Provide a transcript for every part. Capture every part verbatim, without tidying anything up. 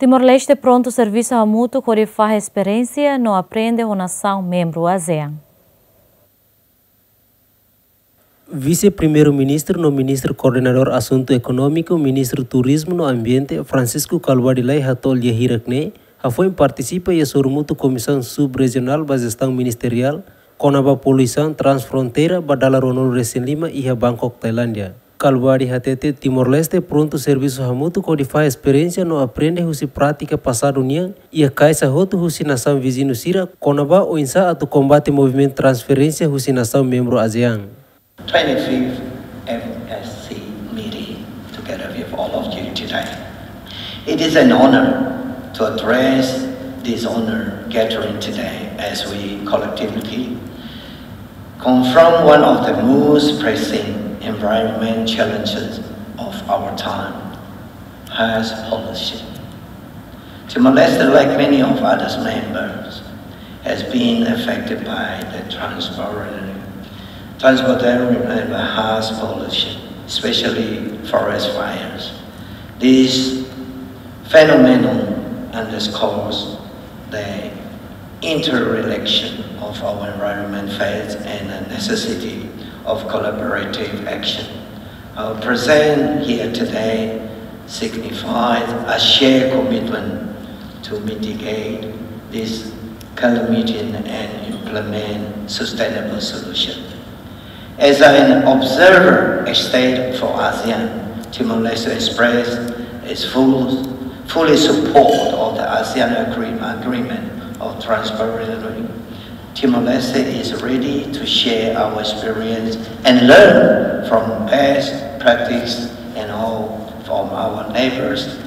Timor-Leste prontu servisu hamutuk hodi fahe esperiénsia no aprende ho nasaun membru ASEAN. Vise-Primeiru-Ministru no Ministru Koordenadór Asuntu Ekonómiku, Ministru Turizmu no Ambiente, Francisco Calbuadi Lay hato'o lia hirak ne'e, hafoin partisipa iha sorumutu Komisaun Sub-Rejionál ba Jestaun Ministeriál kona-ba poluisaun transfronteira ba dala ruanulu-resin-lima iha Bangkok, Tailándia. Calbuadi hatete Timor-Leste prontu servisu hamutuk hodi fahe esperiénsia no aprende husi prátika pasadu nian iha kaixa hotu husi nasaun viziñu sira kona-ba oinsá atu kombate movimentu transferénsia husi nasaun membru ASEAN. twenty-fifth M S C meeting together with all of you today. It is an honor to address this honor gathering today as we collectively confront one of the most pressing environment challenges of our time, harsh pollution. Timor-Leste, like many of others members, has been affected by the transportarian, transportarian and harsh pollution, especially forest fires. This phenomenon underscores the interrelation of our environment faith and the necessity of collaborative action. Our presence here today signifies a shared commitment to mitigate this calamity and implement sustainable solution. As an observer, a state for ASEAN, Timor-Leste expressed its full, fully support of the ASEAN agreement, agreement of transparency. Timor-Leste is ready to share our experience and learn from best practice and all from our neighbors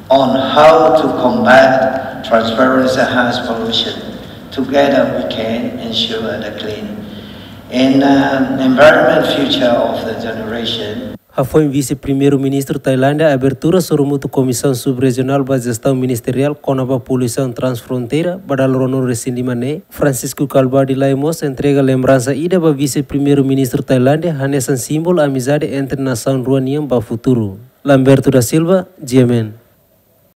on how to combat transparency harsh pollution. Together we can ensure the clean and uh, environment future of the generation. Hafoin Vise-Primeiru-Ministru Tailándia abertura sorumutu Komisaun Sub-Rejionál ba Jestaun Ministeriál kona-ba poluisaun transfronteira ba dala ruanulu-resin-lima ne'e, Francisco Calbuadi Lay mós entrega lembransa ida ba Vise-Primeiru-Ministru Tailándia hanesan símbolu amizade entre nasaun rua nian ba futuru. Lamberto da Silva, G M N.